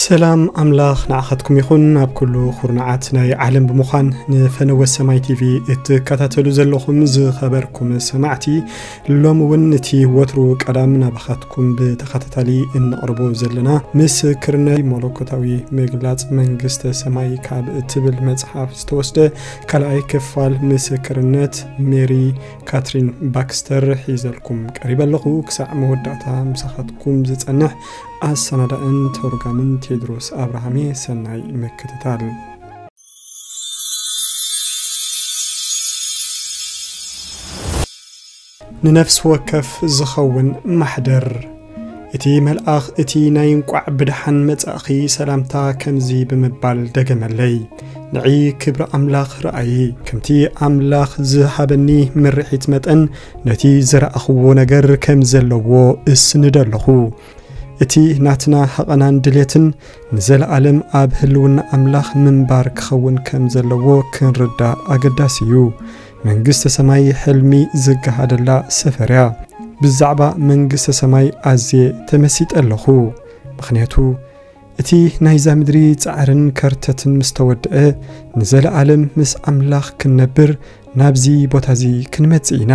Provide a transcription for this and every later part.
ሰላም ኣምላኽ ንዓኻትኩም ይኹን። ኣብ ኩሉ ኩርናዓት ናይ ዓለም ብምዃን ንፈነወ ሰማይ ቲቪ እትከታተሉ ዘለኹም ዝኸበርኩም ሰማዕቲ፣ ሎም እውን እቲ ወትሩ ቀዳም ናባኻትኩም ብተኸታታሊ እንቕርቦ ዘለና ምስክርነት መለኮታዊ ምግላጽ መንግስተ ሰማይ ካብ እትብል መጽሓፍ ዝተወስደ ካልኣይ ክፋል ምስክርነት ሜሪ ካትሪን ባክስተር ሒዘልኩም ቀሪበ ኣለኹ። ክሳዕ መወዳእታ ምሳኻትኩም ዝጸንሕ ኣሰናዳእን ተርጓምን ቴድሮስ ኣብርሃሜ። ሰናይ ምክትታል። ንነፍሲ ወከፍ ዝኸውን ማሕደር። እቲ መልኣኽ እቲ ናይ እንቋዕ ብደሓን መጻእኺ ሰላምታ ከምዚ ብምባል ደገመለይ፣ ንዒ ክብሪ ኣምላኽ ረኣዪ። ከምቲ ኣምላኽ ዝሃበኒ ምርሒት መጠን ነቲ ዝረኣኽዎ ነገር ከም ዘለዎ እስንዶ ኣለኹ። እቲ ናትና ሃቐናን ድሌትን ንዘለኣለም ኣብ ህልውና ኣምላኽ ምንባር ክኸውን ከም ዘለዎ ክንርዳእ ኣገዳሲ እዩ። መንግስተ ሰማይ ሕልሚ ዝገሃደላ ሰፈር እያ። ብዛዕባ መንግስተ ሰማይ ኣዝየ ተመሲጠ ኣለኹ። ምኽንያቱ እቲ ናይዛ ምድሪ ጻዕርን ከርተትን ምስ ተወድአ፣ ንዘለኣለም ምስ ኣምላኽ ክንነብር ናብዚ ቦታ እዚ ክንመጽእ ኢና።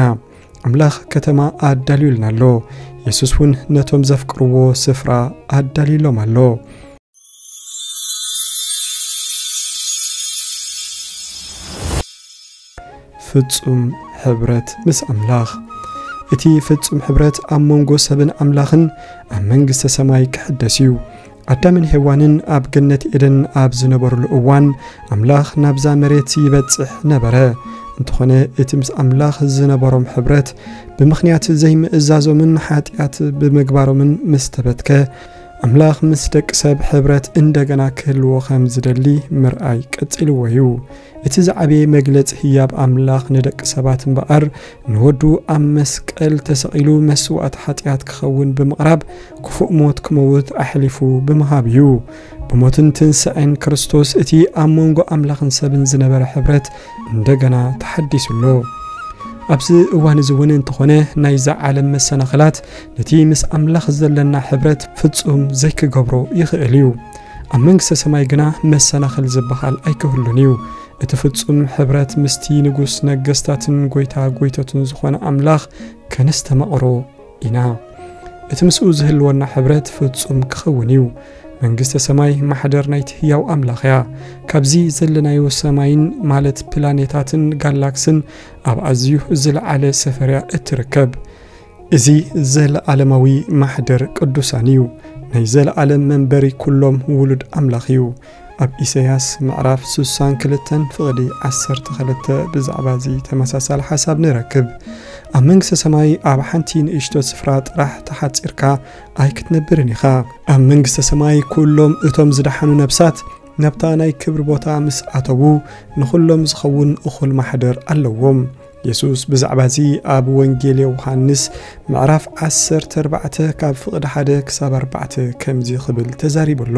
ኣምላኽ ከተማ ኣዳልዩልና ኣሎ። የሱስ እውን ነቶም ዘፍቅርዎ ስፍራ ኣዳልዩሎም ኣሎ። ፍጹም ሕብረት ምስ ኣምላኽ። እቲ ፍጹም ሕብረት ኣብ መንጎ ሰብን ኣምላኽን ኣብ መንግስተ ሰማይ ክሕደስ እዩ። ኣዳምን ሄዋንን ኣብ ገነት ኤደን ኣብ ዝነበሩሉ እዋን፣ ኣምላኽ ናብዛ መሬት ይበጽሕ ነበረ። እንተኾነ፣ እቲ ምስ ኣምላኽ ዝነበሮም ሕብረት ብምኽንያት ዘይምእዛዞምን ሓጢኣት ብምግባሮምን ምስ ተበትከ፣ ኣምላኽ ምስ ደቂ ሰብ ሕብረት እንደገና ክህልዎ ከም ዝደሊ ምርኣይ ቀጺልዎ እዩ። እቲ ዝዓበየ መግለጺ ህያብ ኣምላኽ ንደቂ ሰባት እምበኣር፣ ንወዱ ኣብ መስቀል ተሰቒሉ መስዋእቲ ሓጢኣት ክኸውን ብምቕራብ፣ ክፉእ ሞት ክመውት ኣሕሊፉ ብምሃብ እዩ። ብሞትን ትንሳኤን ክርስቶስ እቲ ኣብ መንጎ ኣምላኽን ሰብን ዝነበረ ሕብረት እንደገና ተሓዲሱ ኣሎ። ኣብዚ እዋን እዚ እውን እንተኾነ፣ ናይዛ ዓለም መሰናኽላት ነቲ ምስ ኣምላኽ ዘለና ሕብረት ፍጹም ዘይክገብሮ ይኽእል እዩ። ኣብ መንግስተ ሰማይ ግና መሰናኽል ዝበሃል ኣይክህሉን እዩ። እቲ ፍጹም ሕብረት ምስቲ ንጉስ ነገስታትን ጎይታ ጎይተቱን ዝኾነ ኣምላኽ ከነስተማቕሮ ኢና። እቲ ምስኡ ዝህልወና ሕብረት ፍጹም ክኸውን እዩ። መንግስተ ሰማይ ማሕደር ናይቲ ህያው ኣምላኽ እያ። ካብዚ ዘለናዮ ሰማይን፣ ማለት ፕላኔታትን ጋላክስን፣ ኣብ ኣዝዩ ዝለዓለ ሰፈር እያ እትርከብ። እዚ ዘለኣለማዊ ማሕደር ቅዱሳን እዩ። ናይ ዘለኣለም መንበሪ ኩሎም ውሉድ ኣምላኽ እዩ። ኣብ ኢሳያስ ምዕራፍ ስሳን ክልተን ፍቕዲ ዓሰርተ ክልተ ብዛዕባ እዚ ተመሳሳሊ ሓሳብ ንረክብ። ኣብ መንግስተ ሰማይ ኣብ ሓንቲ ንእሽቶ ስፍራ ጥራሕ ተሓጺርካ ኣይክትነብርን ኢኻ። ኣብ መንግስተ ሰማይ ኩሎም እቶም ዝደሓኑ ነብሳት ናብታ ናይ ክብሪ ቦታ ምስ ኣተዉ፣ ንኹሎም ዝኸውን እኹል ማሕደር ኣለዎም። የሱስ ብዛዕባ እዚ ኣብ ወንጌል ዮሃንስ ምዕራፍ ዓሰርተ ኣርባዕተ ካብ ፍቕዲ ሓደ ክሳብ ኣርባዕተ ከምዚ ክብል ተዛሪቡ ኣሎ፣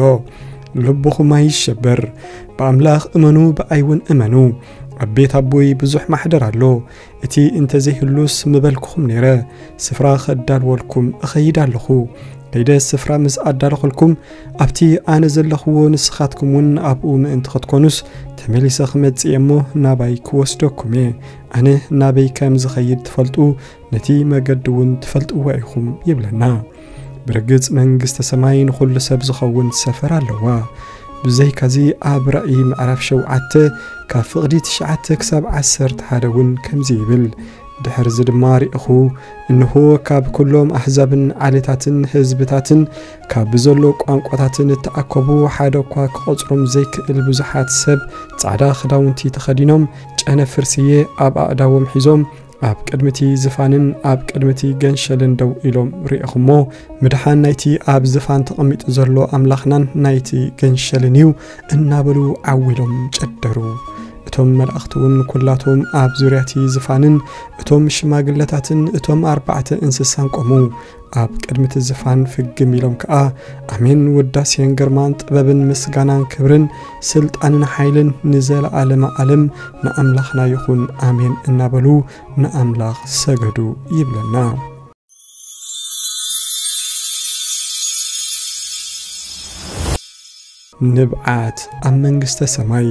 "ልብኹም ኣይሸበር፣ ብኣምላኽ እመኑ፣ ብኣይ እውን እመኑ። ኣብ ቤት ኣቦይ ብዙሕ ማሕደር ኣሎ። እቲ እንተዘይህሉስ ምበልኩኹም ነይረ። ስፍራ ኸዳልወልኩም እኸይድ ኣለኹ። ከይደ ስፍራ ምስ ኣዳለኹልኩም፣ ኣብቲ ኣነ ዘለኽዎ ንስኻትኩም እውን ኣብኡ ምእንቲ ኽትኮኑስ፣ ተመሊሰ ክመጽእ እየ እሞ ናባይ ክወስደኩም እየ። ኣነ ናበይ ከም ዝኸይድ ትፈልጡ፣ ነቲ መገዲ እውን ትፈልጥዎ ኢኹም" ይብለና። ብርግጽ መንግስተ ሰማይ ንኹሉ ሰብ ዝኸውን ሰፈር ኣለዋ። ብዘይካዚ ኣብ ራእይ ምዕራፍ ሸውዓተ ካብ ፍቕዲ ትሽዓተ ክሳብ ዓሰርተ ሓደ እውን ከምዚ ይብል፣ ድሕርዚ ድማ ርኢኹ፣ እንሆ ካብ ኩሎም ኣህዛብን ዓሌታትን ህዝብታትን ካብ ብዘሎ ቋንቋታትን እተኣከቡ ሓደ እኳ ክቖጽሮም ዘይክእል ብዙሓት ሰብ ጻዕዳ ክዳውንቲ ተኸዲኖም ጨነፍር ስየ ኣብ ኣእዳዎም ሒዞም ኣብ ቅድሚቲ ዝፋንን ኣብ ቅድሚቲ ገንሸልን ደው ኢሎም ርኢኹሞ፣ ምድሓን ናይቲ ኣብ ዝፋን ተቐሚጡ ዘሎ ኣምላኽናን ናይቲ ገንሸልን እዩ እናበሉ ዓው ኢሎም ጨደሩ። እቶም መላእኽቲ እውን ኩላቶም ኣብ ዙርያ እቲ ዝፋንን እቶም ሽማግለታትን እቶም ኣርባዕተ እንስሳን ቆሙ። ኣብ ቅድሚ እቲ ዝፋን ፍግም ኢሎም ከኣ፣ "ኣሜን፣ ውዳሴን ግርማን ጥበብን ምስጋናን ክብርን ስልጣንን ሓይልን ንዘለኣለመ ኣለም ንኣምላኽና ይኹን፣ ኣሜን" እናበሉ ንኣምላኽ ሰገዱ ይብለና። ንብዓት ኣብ መንግስተ ሰማይ።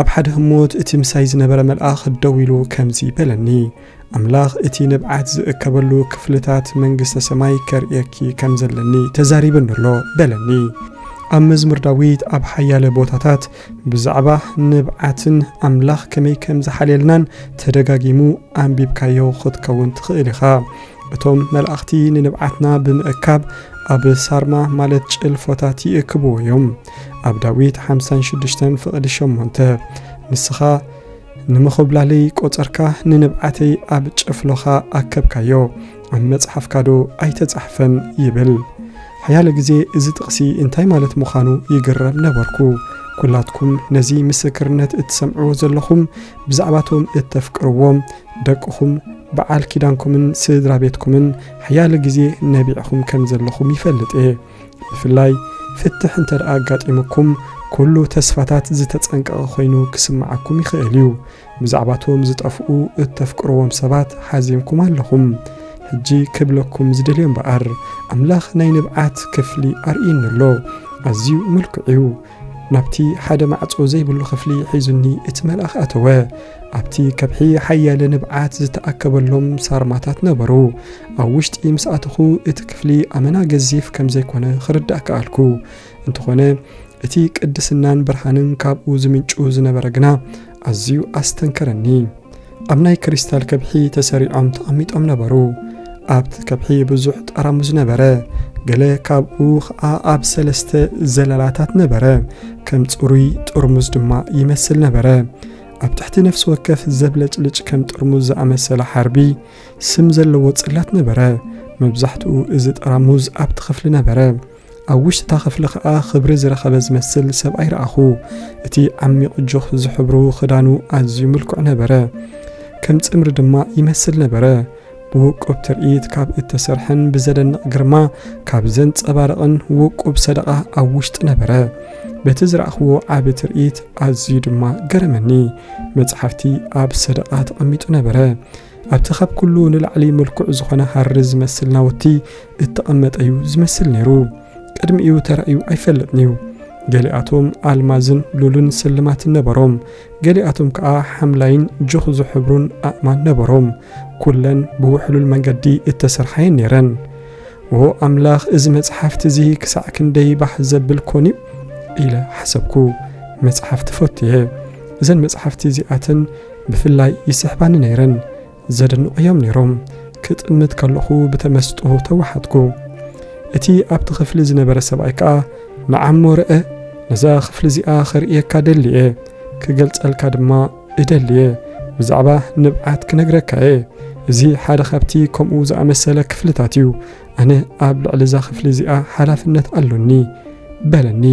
ኣብ ሓደ ህሞት እቲ ምሳይ ዝነበረ መልኣኽ ደው ኢሉ ከምዚ በለኒ፣ ኣምላኽ እቲ ንብዓት ዝእከበሉ ክፍልታት መንግስተ ሰማይ ከርእየኪ ከም ዘለኒ ተዛሪብኒ ኣሎ በለኒ። ኣብ መዝሙር ዳዊት ኣብ ሓያለ ቦታታት ብዛዕባ ንብዓትን ኣምላኽ ከመይ ከም ዝሓልየልናን ተደጋጊሙ ኣንቢብካዮ ክትከውን ትኽእል ኢኻ። እቶም መላእኽቲ ንንብዓትና ብምእካብ ኣብ ሳርማ ማለት ጭልፎታት ይእክብዎ እዮም። ኣብ ዳዊት ሓምሳን ሽዱሽተን ፍቕዲ ሸሞንተ፣ ንስኻ ንመኾብላለይ ቆጸርካ፣ ንንብዓተይ ኣብ ጭፍሎኻ ኣከብካዮ፣ ኣብ መጽሓፍካዶ ኣይተጻሕፈን ይብል። ሓያለ ግዜ እዚ ጥቕሲ እንታይ ማለት ምዃኑ ይግረም ነበርኩ። ኩላትኩም ነዚ ምስክርነት እትሰምዕዎ ዘለኹም ብዛዕባቶም እተፍቅርዎም ደቅኹም፣ በዓል ኪዳንኩምን ስድራ ቤትኩምን ሓያለ ግዜ ነቢዕኹም ከም ዘለኹም ይፈልጥ እየ። ብፍላይ ፍትሕ እንተ ደኣ ኣጋጢሙኩም፣ ኩሉ ተስፋታት ዝተጸንቀቐ ኮይኑ ክስምዓኩም ይኽእል እዩ። ብዛዕባቶም ዝጠፍኡ እተፍቅርዎም ሰባት ሓዚንኩም ኣለኹም። ሕጂ ክብለኩም ዝደልዮ እምበኣር፣ ኣምላኽ ናይ ንብዓት ክፍሊ ኣርእዩኒ ኣሎ። ኣዝዩ ምልኩዕ እዩ። ናብቲ ሓደ ማዕጾ ዘይብሉ ክፍሊ ሒዙኒ እቲ መልኣኽ ኣተወ። ኣብቲ ከብሒ ሓያለ ንብዓት ዝተኣከበሎም ሳርማታት ነበሩ። ኣብ ውሽጢ ምስ ኣተኹ እቲ ክፍሊ ኣመና ገዚፍ ከም ዘይኮነ ክርዳእ ከኣልኩ። እንተኾነ እቲ ቅድስናን ብርሃንን ካብኡ ዝምንጩ ዝነበረ ግና ኣዝዩ ኣስተንከረኒ። ኣብ ናይ ክሪስታል ከብሒ ተሰሪዖም ተቐሚጦም ነበሩ። ኣብቲ ከብሒ ብዙሕ ጠራሙዝ ነበረ። ገለ ካብኡ ኸኣ ኣብ ሰለስተ ዘለላታት ነበረ። ከም ጽሩይ ጥርሙዝ ድማ ይመስል ነበረ። ኣብ ትሕቲ ነፍሲ ወከፍ ዘብለጭልጭ ከም ጥርሙዝ ዝኣመሰለ ሓርቢ ስም ዘለዎ ጽላት ነበረ። መብዛሕትኡ እዚ ጠራሙዝ ኣብቲ ክፍሊ ነበረ። ኣብ ውሽጢ እታ ክፍሊ ኸኣ ክብሪ ዝረኸበ ዝመስል ሰብኣይ ረኣኹ። እቲ ዓሚቕ ጆኽ ዝሕብሩ ክዳኑ ኣዝዩ ምልኩዕ ነበረ። ከም ጽምሪ ድማ ይመስል ነበረ። ብውቁብ ትርኢት ካብ እተሰርሐን ብዘደንቕ ግርማ ካብ ዘንጸባርቕን ውቁብ ሰደቓ ኣብ ውሽጢ ነበረ። በቲ ዝረኣኽዎ ዓቢ ትርኢት ኣዝዩ ድማ ገረመኒ። መጽሓፍቲ ኣብ ሰደቓ ተቐሚጡ ነበረ። ኣብቲ ካብ ኩሉ ንላዕሊ ምልኩዕ ዝኾነ ሃሪ ዝመስል ናውቲ እተቐመጠ እዩ ዝመስል ነይሩ። ቅድሚኡ ተራእዩ ኣይፈልጥን እዩ። ገሊኣቶም ኣልማዝን ሉልን ስልማትን ነበሮም። ገሊኣቶም ከኣ ሓምላይን ጆኽ ዝሕብሩን ኣእማን ነበሮም። ኩለን ብውሕሉል መንገዲ እተሰርሓ እየን ነይረን። "ዎ ኣምላኽ፣ እዚ መጽሓፍቲ እዚ ክሳዕ ክንደይ ባህ ዘብል ኮን እዩ?" ኢለ ሓሰብኩ። መጽሓፍቲ ፈቱ እየ። እዘን መጽሓፍቲ እዚኣተን ብፍላይ ይስሕባኒ ነይረን። ዘደንቑ እዮም ነይሮም። ክጥምት ከለኹ ብተመስጦ ተዋሓጥኩ። እቲ ኣብቲ ክፍሊ ዝነበረ ሰብኣይ ከኣ፣ "ንዓሞ ርአ፣ ነዛ ክፍሊ እዚኣ ክርእየካ ደሊ እየ፣ ክገልጸልካ ድማ እደሊ እየ። ብዛዕባ ንብዓት ክነግረካ እየ። እዚ ሓደ ካብቲ ከምኡ ዝኣመሰለ ክፍልታት እዩ። ኣነ ኣብ ልዕሊ እዛ ክፍሊ እዚኣ ሓላፍነት ኣሎኒ" በለኒ።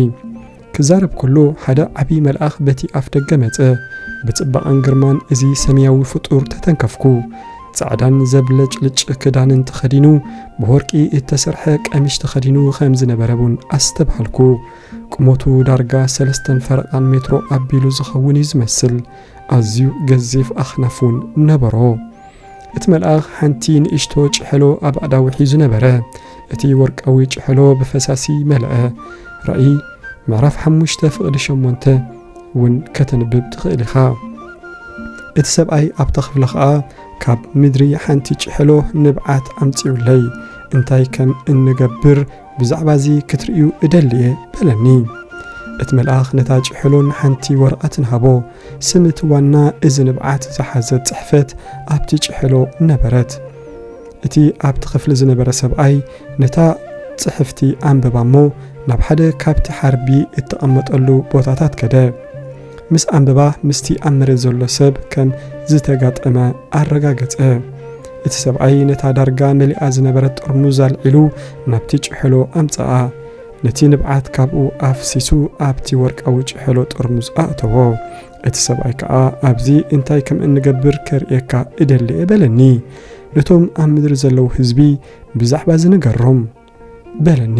ክዛረብ ከሎ ሓደ ዓቢ መልኣኽ በቲ ኣፍ ደገ መጸ። ብጽባቐን ግርማን እዚ ሰማያዊ ፍጡር ተተንከፍኩ። ጻዕዳን ዘብለጭልጭ ክዳንን ተኸዲኑ፣ ብወርቂ እተሰርሐ ቀሚሽ ተኸዲኑ ከም ዝነበረ እውን ኣስተብሃልኩ። ቁመቱ ዳርጋ ሰለስተን ፈረቓን ሜትሮ ኣቢሉ ዝኸውን እዩ ዝመስል። ኣዝዩ ገዚፍ ኣኽናፍ እውን ነበሮ። እቲ መልኣኽ ሓንቲ ንእሽቶ ጭሕሎ ኣብ ኣእዳዉ ሒዙ ነበረ። እቲ ወርቃዊ ጭሕሎ ብፈሳሲ መለአ። ራእይ ምዕራፍ ሓሙሽተ ፍቕዲ ሸሞንተ እውን ከተንብብ ትኽእል ኢኻ። እቲ ሰብኣይ ኣብታ ክፍሊ ኸኣ፣ "ካብ ምድሪ ሓንቲ ጭሕሎ ንብዓት ኣምጽኡለይ፣ እንታይ ከም እንገብር ብዛዕባ እዚ ክትርእዩ እደሊ እየ" በለኒ። እቲ መልኣኽ ነታ ጭሕሎን ሓንቲ ወረቐትን ሃቦ። ስም እቲ ዋና እዚ ንብዓት ዝሓዘት ጽሕፈት ኣብቲ ጭሕሎ ነበረት። እቲ ኣብቲ ክፍሊ ዝነበረ ሰብኣይ ነታ ጽሕፍቲ ኣንበባ እሞ ናብ ሓደ ካብቲ ሓርቢ እተቐመጠሉ ቦታታት ከደ። ምስ ኣንበባ ምስቲ ኣብ መሬት ዘሎ ሰብ ከም ዝተጋጠመ ኣረጋገጸ። እቲ ሰብኣይ ነታ ዳርጋ መሊኣ ዝነበረት ጥርሙዝ ኣልዒሉ ናብቲ ጭሕሎ ኣምጽኣ። ነቲ ንብዓት ካብኡ ኣፍሲሱ ኣብቲ ወርቃዊ ጭሕሎ ጥርሙዝ ኣእተዎ። እቲ ሰብኣይ ከኣ፣ "ኣብዚ እንታይ ከም እንገብር ከርእየካ እደሊ እየ" በለኒ። ነቶም ኣብ ምድሪ ዘለዉ ህዝቢ ብዛዕባ እዚ ንገሮም በለኒ።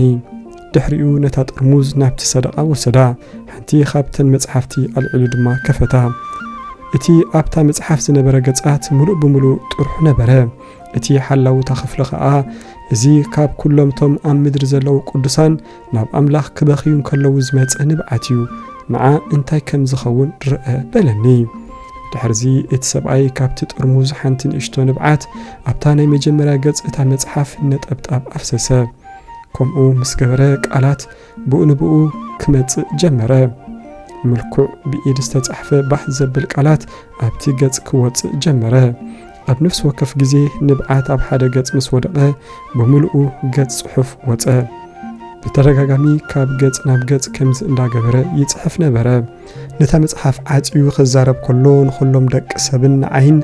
ድሕሪኡ ነታ ጥርሙዝ ናብቲ ሰደቓ ወሰዳ። ሓንቲ ካብተን መጽሓፍቲ ኣልዒሉ ድማ ከፈታ። እቲ ኣብታ መጽሓፍ ዝነበረ ገጻት ምሉእ ብምሉእ ጥርሑ ነበረ። እቲ ሓላዊ እታ ክፍሊ ኸኣ፣ "እዚ ካብ ኩሎም እቶም ኣብ ምድሪ ዘለዉ ቅዱሳን ናብ ኣምላኽ ክበኽዩ እንከለዉ ዝመጸ ንብዓት እዩ። ንዓ እንታይ ከም ዝኸውን ርአ" በለኒ። ድሕርዚ እቲ ሰብኣይ ካብቲ ጥርሙዝ ሓንቲ ንእሽቶ ንብዓት ኣብታ ናይ መጀመርያ ገጽ እታ መጽሓፍ ነጠብጣብ ኣፍሰሰ። ከምኡ ምስ ገበረ፣ ቃላት ብኡ ንብኡ ክመጽእ ጀመረ። ምልኩዕ ብኢድ ዝተጻሕፈ ባህ ዘብል ቃላት ኣብቲ ገጽ ክወጽእ ጀመረ። ኣብ ነፍሲ ወከፍ ግዜ ንብዓት ኣብ ሓደ ገጽ ምስ ወደቐ፣ ብምሉኡ ገጽ ጽሑፍ ወጸ። ብተደጋጋሚ ካብ ገጽ ናብ ገጽ ከምዚ እንዳገበረ ይጽሕፍ ነበረ። ነታ መጽሓፍ ዓጽዩ ክዛረብ ከሎ፣ ንኹሎም ደቂ ሰብን ንዓይን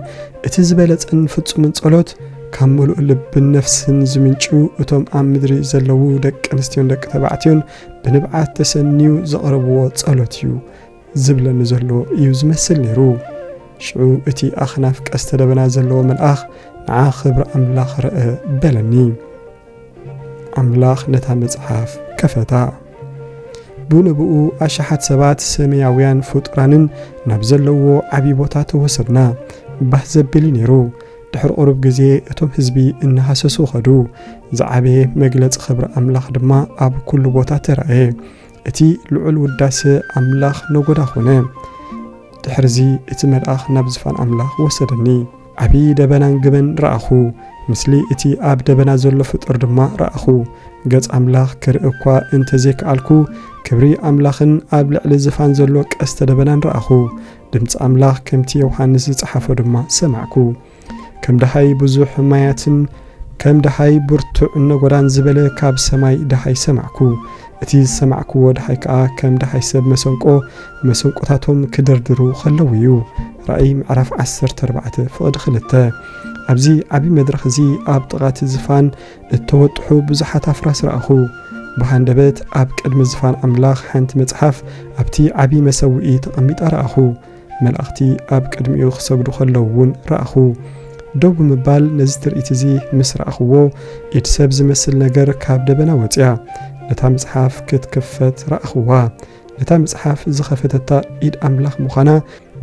እቲ ዝበለጸን ፍጹምን ጸሎት፣ ካብ ምሉእ ልብን ነፍስን ዝምንጩ፣ እቶም ኣብ ምድሪ ዘለዉ ደቂ ኣንስትዮን ደቂ ተባዕትዮን ብንብዓት ተሰንዩ ዘቕረብዎ ጸሎት እዩ ዝብለኒ ዘሎ እዩ ዝመስል ነይሩ። ሽዑ እቲ ኣኽናፍ ቀስተ ደበና ዘለዎ መልኣኽ፣ "ንዓ ክብሪ ኣምላኽ ርአ" በለኒ። ኣምላኽ ነታ መጽሓፍ ከፈታ። ብንብኡ ኣሽሓት ሰባት ሰማያውያን ፍጡራንን ናብ ዘለዎ ዓቢ ቦታ ተወሰድና። ባህ ዘብል እዩ ነይሩ። ድሕሪ ቁሩብ ግዜ እቶም ህዝቢ እናሃሰሱ ኸዱ። ዝዓበየ መግለጺ ክብሪ ኣምላኽ ድማ ኣብ ኩሉ ቦታ ተራእየ። እቲ ልዑል ውዳሰ ኣምላኽ ነጎዳ ኾነ። ድሕርዚ እቲ መልኣኽ ናብ ዝፋን ኣምላኽ ወሰደኒ። ዓቢ ደበናን ግመን ረኣኹ። ምስሊ እቲ ኣብ ደበና ዘሎ ፍጡር ድማ ረኣኹ። ገጽ ኣምላኽ ክርኢ እኳ እንተ ዘይከኣልኩ፣ ክብሪ ኣምላኽን ኣብ ልዕሊ ዝፋን ዘሎ ቀስተ ደበናን ረኣኹ። ድምጺ ኣምላኽ ከምቲ ዮሃንስ ዝጸሓፎ ድማ ሰማዕኩ። ከም ደሃይ ብዙሕ ማያትን ከም ደሃይ ብርቱዕ ነጎዳን ዝበለ ካብ ሰማይ ደሃይ ሰማዕኩ። እቲ ዝሰማዕክዎ ደሃይ ከኣ ከም ደሃይ ሰብ መሰንቆ፣ መሰንቆታቶም ክድርድሩ ከለዉ እዩ። ራእይ ምዕራፍ ዓሰርተ ኣርባዕተ ፍቕዲ ክልተ። ኣብዚ ዓቢ መድረኽ እዚ ኣብ ጥቓ እቲ ዝፋን እተወጥሑ ብዙሓት ኣፍራስ ረኣኹ። ብሃንደበት ኣብ ቅድሚ ዝፋን ኣምላኽ ሓንቲ መጽሓፍ ኣብቲ ዓቢ መሰውኢ ተቐሚጣ ረኣኹ። መላእኽቲ ኣብ ቅድሚኡ ክሰግዱ ከለዉ እውን ረኣኹ። ደው ብምባል ነዚ ትርኢት እዚ ምስ ረኣኽዎ፣ ኢድ ሰብ ዝመስል ነገር ካብ ደበና ወጺኣ፣ ነታ መጽሓፍ ክትክፈት ረኣኽዋ። ነታ መጽሓፍ ዝኸፈተታ ኢድ ኣምላኽ ምዃና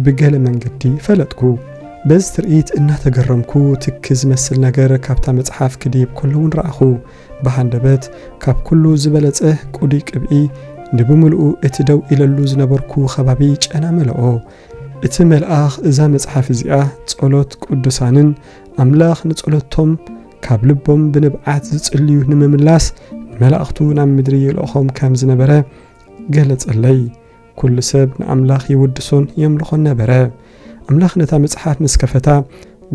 ብገለ መንገዲ ፈለጥኩ። በዚ ትርኢት እናተገረምኩ፣ ትኪ ዝመስል ነገር ካብታ መጽሓፍ ክድይብ ከሎ እውን ረኣኹ። ብሃንደበት፣ ካብ ኩሉ ዝበለጸ ቅዱይ ቅብኢ፣ ንብምልኡ እቲ ደው ኢለሉ ዝነበርኩ ከባቢ ጨና መለኦ። እቲ መልኣኽ፣ እዛ መጽሓፍ እዚኣ ጸሎት ቅዱሳንን ኣምላኽ ንጸሎቶም ካብ ልቦም ብንብዓት ዝጽልዩ ንምምላስ ንመላእኽቱ ናብ ምድሪ ይልእኾም ከም ዝነበረ ገለጸለይ። ኩሉ ሰብ ንኣምላኽ ይውድሶን የምልኾን ነበረ። ኣምላኽ ነታ መጽሓፍ ምስ ከፈታ፣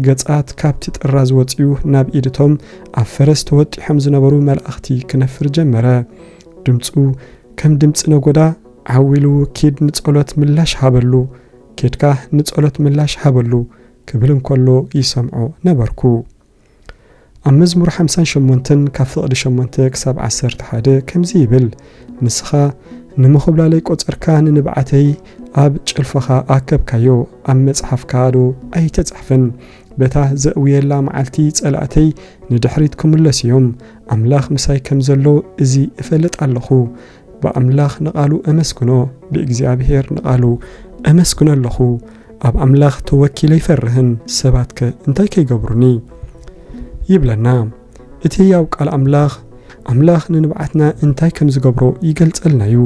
ገጻት ካብቲ ጥራዝ ወጺኡ ናብ ኢድቶም ኣብ ፈረስ ተወጢሖም ዝነበሩ መላእኽቲ ክነፍር ጀመረ። ድምጹ ከም ድምጺ ነጎዳ ዓው ኢሉ፣ "ኪድ ንጸሎት ምላሽ ሃበሉ፣ ኬድካ ንጸሎት ምላሽ ሃበሉ" ክብል እንከሎ ይሰምዖ ነበርኩ። ኣብ መዝሙር ሓምሳን ሸሞንተን ካብ ፍቕዲ ሸሞንተ ክሳብ ዓሰርተ ሓደ ከምዚ ይብል፣ "ንስኻ ንምኹብላለይ ቆጸርካ፣ ንንብዓተይ ኣብ ጭልፋኻ ኣከብካዮ፣ ኣብ መጽሓፍካ ዶ ኣይተጻሕፈን? በታ ዘእውየላ መዓልቲ ጸላእተይ ንድሕሪት ክምለሱ እዮም። ኣምላኽ ምሳይ ከም ዘሎ እዚ እፈልጥ ኣለኹ። ብኣምላኽ ንቓሉ ኣመስግኖ፣ ብእግዚኣብሔር ንቓሉ ኣመስግኖ ኣለኹ። ኣብ ኣምላኽ ተወኪለ ኣይፈርህን፣ ሰባትከ እንታይ ከይገብሩኒ?" ይብለና። እቲ ህያው ቃል ኣምላኽ፣ ኣምላኽ ንንብዓትና እንታይ ከም ዝገብሮ ይገልጸልና እዩ።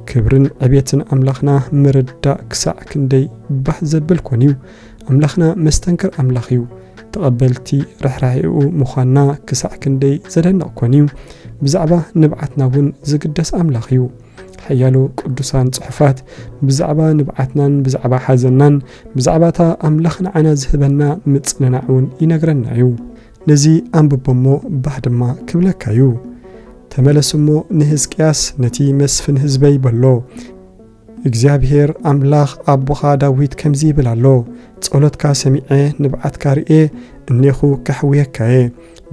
ክብርን ዕቤትን ኣምላኽና ምርዳእ ክሳዕ ክንደይ ባህ ዘብል ኮን እዩ። ኣምላኽና መስተንክር ኣምላኽ እዩ። ተቐበልቲ ርሕራሄኡ ምዃንና ክሳዕ ክንደይ ዘደንቕ ኮን እዩ። ብዛዕባ ንብዓትና እውን ዝግደስ ኣምላኽ እዩ። ሓያሎ ቅዱሳን ጽሑፋት ብዛዕባ ንብዓትናን ብዛዕባ ሓዘንናን ብዛዕባ እታ ኣምላኽ ንዓና ዝህበና ምጽንናዕ እውን ይነግረና እዩ። ነዚ ኣንብቦ እሞ ባህ ድማ ክብለካ እዩ። ተመለስ እሞ ንህዝቅያስ ነቲ መስፍን ህዝበይ በሎ፣ "እግዚኣብሔር ኣምላኽ ኣቦኻ ዳዊት ከምዚ ይብል ኣሎ፣ ጸሎትካ ሰሚዐ፣ ንብዓትካ ርእየ፣ እኔኹ ከሕውየካ እየ።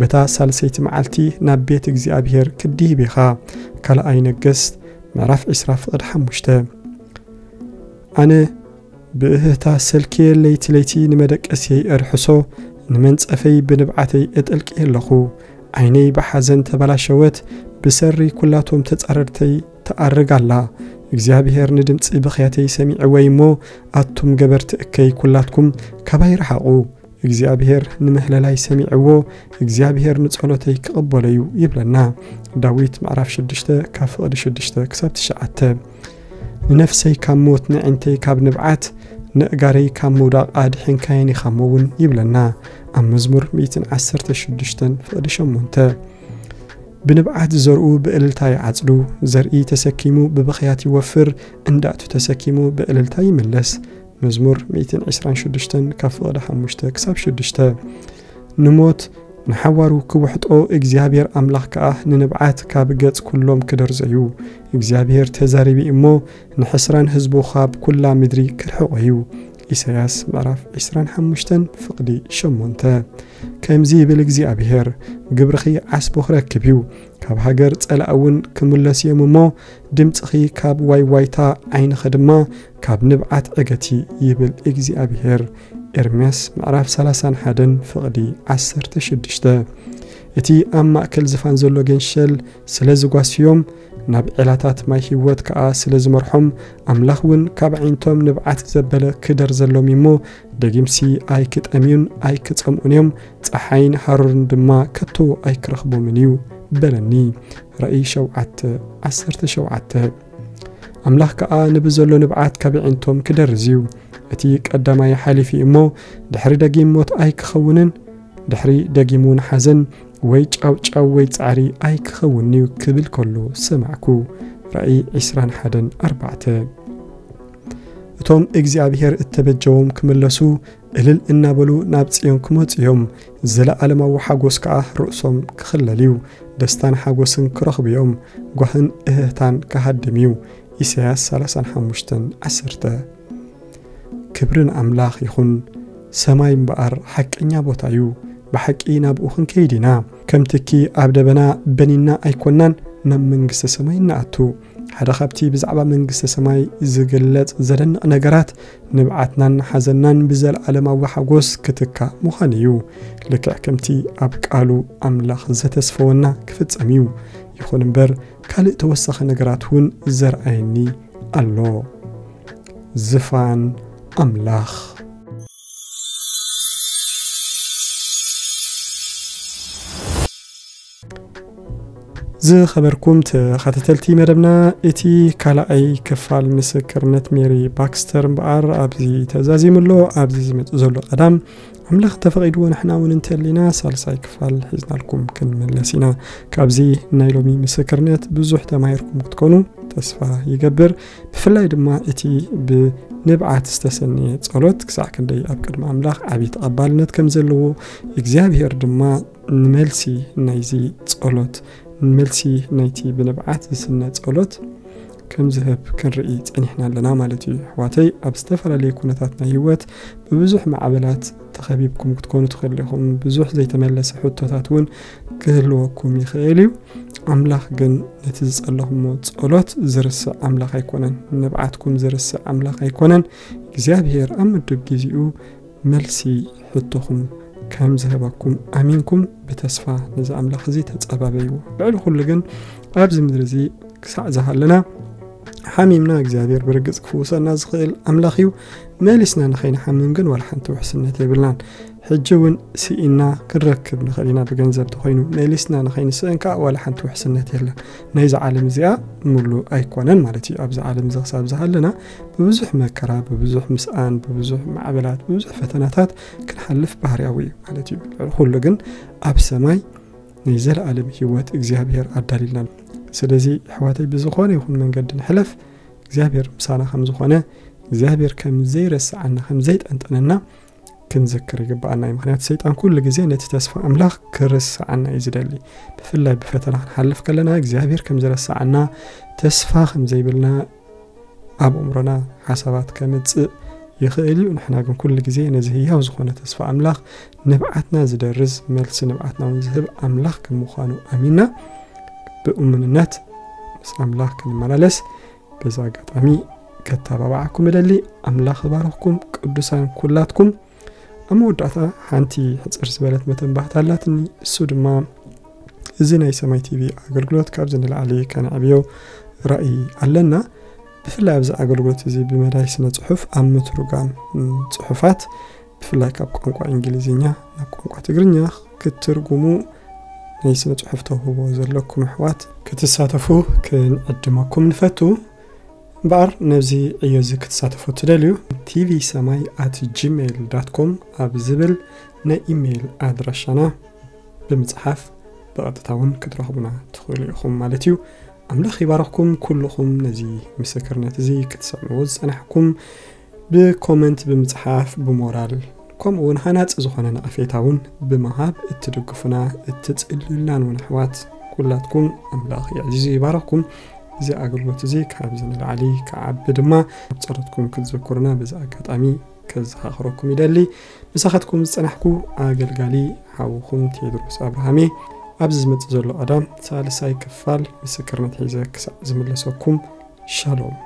በታ ሳልሰይቲ መዓልቲ ናብ ቤት እግዚኣብሔር ክትድይብ ኢኻ።" ካልኣይ ነገስት ምዕራፍ ዕስራ ፍቕዲ ሓሙሽተ። ኣነ ብእህህታ ሰልክየ፣ ለይቲ ለይቲ ንመደቀስየይ እርሕሶ፣ ንመንጸፈይ ብንብዓተይ እጠልቅየ ኣለኹ። ዓይነይ ብሓዘን ተበላሸወት፣ ብሰሪ ኩላቶም ተጻረርተይ ትኣርግ ኣላ። እግዚኣብሔር ንድምጺ ብኽያተይ ሰሚዕወይ እሞ፣ ኣቱም ገበርቲ እከይ ኩላትኩም ካባይ ርሓቑ። እግዚኣብሔር ንምህለላይ ሰሚዕዎ፣ እግዚኣብሔር ንጸሎተይ ክቕበሎ እዩ ይብለና። ዳዊት ምዕራፍ ሽዱሽተ ካብ ፍቕዲ ሽዱሽተ ክሳብ ትሽዓተ። ንነፍሰይ ካብ ሞት፣ ንዕንተይ ካብ ንብዓት፣ ንእጋረይ ካብ ምውዳቕ ኣድሒንካየን ኢኻ እሞ እውን ይብለና ኣብ መዝሙር ሚእትን ዓሰርተ ሽዱሽተን ፍቕዲ ሸሞንተ። ብንብዓት ዝዘርኡ ብእልልታ ይዓጽዱ። ዘርኢ ተሰኪሙ ብብኽያት ይወፍር፣ እንዳእቱ ተሰኪሙ ብእልልታ ይምለስ። መዝሙር ሚእትን ዕስራን ሽዱሽተን ካብ ፍቕዲ ሓሙሽተ ክሳብ ሽዱሽተ። ንሞት ንሓዋሩ ክውሕጦ እግዚኣብሔር ኣምላኽ ከኣ ንንብዓት ካብ ገጽ ኩሎም ክደርዘዩ። እግዚኣብሔር ተዛሪቢ እሞ ንሕስራን ህዝቡ ካብ ኩላ ምድሪ ክርሕቖ እዩ። ኢሳያስ ምዕራፍ ዕስራን ሓሙሽተን ፍቕዲ ሸሞንተ። ከምዚ ይብል እግዚኣብሔር፣ ግብርኺ ዓስቦ ክረክብ እዩ፣ ካብ ሃገር ጸላእ እውን ክምለሱ እዮም እሞ፣ ድምጽኺ ካብ ዋይ ዋይታ ዓይንኺ ድማ ካብ ንብዓት ዕገቲ ይብል እግዚኣብሔር። ኤርምያስ ምዕራፍ ሰላሳን ሓደን ፍቕዲ ዓሰርተ ሽዱሽተ። እቲ ኣብ ማእከል ዝፋን ዘሎ ገንሸል ስለ ዝጓስዮም፣ ናብ ዔላታት ማይ ህይወት ከኣ ስለ ዝመርሖም፣ ኣምላኽ እውን ካብ ዓይንቶም ንብዓት ዘበለ ክደርዘሎም እሞ፣ ደጊምሲ ኣይክጠምዩን ኣይክጸምኡን እዮም፣ ጸሓይን ሃሩርን ድማ ከቶ ኣይክረኽቦምን እዩ በለኒ። ራእይ ሸውዓተ ዓሰርተ ሸውዓተ። ኣምላኽ ከኣ ንብዘሎ ንብዓት ካብ ኣዒንቶም ክደርዝ እዩ። እቲ ቀዳማይ ሓሊፉ እሞ፣ ድሕሪ ደጊም ሞት ኣይክኸውንን፣ ድሕሪ ደጊም እውን ሓዘን ወይ ጫውጫው ወይ ጻዕሪ ኣይክኸውንን እዩ ክብል ከሎ ሰማዕኩ። ራእይ ዕስራን ሓደን ኣርባዕተ። እቶም እግዚኣብሔር እተበጀዎም ክምለሱ፣ እልል እናበሉ ናብ ጽዮን ክመጹ እዮም። ዘለዓለማዊ ሓጎስ ከኣ ርእሶም ክኽለል እዩ። ደስታን ሓጎስን ክረኽቡ እዮም። ጓህን እህህታን ክሃድም እዩ። ኢሳያስ ሰላሳን ሓሙሽተን ዓሰርተ። ክብሪ ንኣምላኽ ይኹን። ሰማይ እምበኣር ሓቀኛ ቦታ እዩ። ብሓቂ ናብኡ ክንከይድ ኢና። ከም ትኪ ኣብ ደበና በኒና ኣይኮናን ናብ መንግስተ ሰማይ እንኣቱ። ሓደ ካብቲ ብዛዕባ መንግስተ ሰማይ ዝግለጽ ዘደንቕ ነገራት፣ ንብዓትናን ሓዘንናን ብዘለዓለማዊ ሓጎስ ክትካእ ምዃን እዩ። ልክዕ ከምቲ ኣብ ቃሉ ኣምላኽ ዘተስፈወና ክፍጸም እዩ። ይኹን እምበር፣ ካልእ ተወሳኺ ነገራት እውን ዘርኣየኒ ኣሎ። ዝፋን ኣምላኽ። ዝኸበርኩም ተኸታተልቲ መደብና፣ እቲ ካልኣይ ክፋል ምስክርነት ሜሪ ባክስተር እምበኣር ኣብዚ ተዛዚሙ ኣሎ። ኣብዚ ዝመጽእ ዘሎ ቀዳም፣ ኣምላኽ እንተፈቒድዎ፣ ንሕና እውን እንተሊና ሳልሳይ ክፋል ሒዝናልኩም ክንምለስ ኢና። ካብዚ ናይ ሎሚ ምስክርነት ብዙሕ ተማሂርኩም ክትኮኑ ተስፋ ይገብር። ብፍላይ ድማ እቲ ብንብዓት ዝተሰነየ ጸሎት ክሳዕ ክንደይ ኣብ ቅድሚ ኣምላኽ ዓቢ ተቐባልነት ከም ዘለዎ፣ እግዚኣብሔር ድማ ንመልሲ ናይዚ ጸሎት፣ ንመልሲ ናይቲ ብንብዓት ዝስነ ጸሎት ከም ዝህብ ክንርኢ ጸኒሕና ኣለና ማለት እዩ። ኣሕዋተይ፣ ኣብ ዝተፈላለዩ ኩነታት ናይ ህይወት ብብዙሕ ማዕበላት ተኸቢብኩም ክትኮኑ ትኽእሉ ኢኹም። ብዙሕ ዘይተመለሰ ሕቶታት እውን ክህልወኩም ይኽእል እዩ። ኣምላኽ ግን ነቲ ዝጸለኹሞ ጸሎት ዝርስዕ ኣምላኽ ኣይኮነን። ንብዓትኩም ዝርስዕ ኣምላኽ ኣይኮነን። እግዚኣብሔር ኣብ ምዱብ ግዜኡ መልሲ ሕቶኹም ከም ዝህበኩም ኣሚንኩም ብተስፋ ነዚ ኣምላኽ እዚ ተጸባበይዎ። ልዕሊ ኩሉ ግን ኣብዚ ምድሪ እዚ ክሳዕ ዝሃለና ሓሚምና እግዚኣብሔር ብርግጽ ክፍውሰና ዝኽእል ኣምላኽ እዩ። መሊስና ንኸይንሓምም ግን ዋላ ሓንቲ ውሕስነት የብልናን። ሕጂ እውን ስኢና ክንረክብ ንኽእል ኢና፣ ብገንዘብ ተኾይኑ። መሊስና ንኸይንስእን ከኣ ዋላ ሓንቲ ውሕስነት የለን። ናይዛ ዓለም እዚኣ ምሉእ ኣይኮነን ማለት እዩ። ኣብዚ ዓለም እዚ ክሳብ ዝሃለና ብብዙሕ መከራ፣ ብብዙሕ ምስኣን፣ ብብዙሕ ማዕበላት፣ ብብዙሕ ፈተናታት ክንሓልፍ ባህርያዊ እዩ ማለት እዩ። ልዕሊ ኩሉ ግን ኣብ ሰማይ ናይ ዘለኣለም ህይወት እግዚኣብሔር ኣዳልዩልና። ስለዚ ኣሕዋተይ ብዝኾነ ይኹን መንገዲ ንሕለፍ፣ እግዚኣብሔር ምሳና ከም ዝኾነ፣ እግዚኣብሔር ከም ዘይረስዓና፣ ከም ዘይጠንጠነና ክንዝክር ይግብኣና እዩ። ምኽንያቱ ሰይጣን ኩሉ ግዜ ነቲ ተስፋ ኣምላኽ ክርስዓና እዩ ዝደሊ። ብፍላይ ብፈተና ክንሓልፍ ከለና እግዚኣብሔር ከም ዝረስዓና፣ ተስፋ ከም ዘይብልና ኣብ ኣእምሮና ሓሳባት ከምጽእ ይኽእል እዩ። ንሕና ግን ኩሉ ግዜ ነዚ ህያው ዝኾነ ተስፋ ኣምላኽ፣ ንብዓትና ዝደርዝ፣ መልሲ ንብዓትና እውን ዝህብ ኣምላኽ ከም ምዃኑ ኣሚንና ብእሙንነት ምስ ኣምላኽ ክንመላለስ በዚ ኣጋጣሚ ከተባብዓኩም እደሊ። ኣምላኽ ይባርኽኩም ቅዱሳን ኩላትኩም። ኣብ መወዳእታ ሓንቲ ሕጽር ዝበለት መተንባህታ ኣላትኒ። እሱ ድማ እዚ ናይ ሰማይ ቲቪ ኣገልግሎት ካብዚ ንላዕሊ ከነዕብዮ ራእይ ኣለና። ብፍላይ ኣብዚ ኣገልግሎት እዚ ብመዳይ ስነ ጽሑፍ ኣብ ምትርጓም፣ ም፣ ጽሑፋት ብፍላይ ካብ ቋንቋ እንግሊዝኛ ናብ ቋንቋ ትግርኛ ክትትርጉሙ ናይ ስነ ጽሑፍ ተውህቦ ዘለኩም ኣሕዋት ክትሳተፉ ክንዕድመኩም ንፈቱ። እምበኣር ነዚ ዕዮ እዚ ክትሳተፉ ትደልዩ፣ ቲቪ ሰማይ ኣት ጂሜይል ዳት ኮም ኣብ ዝብል ናይ ኢሜይል ኣድራሻና ብምጽሓፍ ብቐጥታ እውን ክትረኽቡና ትኽእሉ ኢኹም ማለት እዩ። ኣምላኽ ይባረኽኩም ኩልኹም ነዚ ምስክርነት እዚ ክትሰምዑ ዝጸናሕኩም፣ ብኮመንት ብምጽሓፍ ብሞራል ከምኡ እውን ሃናጺ ዝኾነ ነቐፌታ እውን ብምሃብ እትድግፉና እትጽልዩልናን እውን ኣሕዋት ኩላትኩም ኣምላኽ የዕዚዙ ይባረኽኩም። እዚ ኣገልግሎት እዚ ካብዚ ንላዕሊ ክዓቢ ድማ ኣብ ጸሎትኩም ክትዝክሩና በዚ ኣጋጣሚ ከዘኻኽረኩም ይደሊ። ምሳኻትኩም ዝጸናሕኩ ኣገልጋሊ ሓውኹም ቴድሮስ ኣብርሃም እየ። ኣብዚ ዝመጽእ ዘሎ ቀዳም ሳልሳይ ክፋል ምስክርነት ሒዘ ክሳዕ ዝምለሰኩም ሻሎም።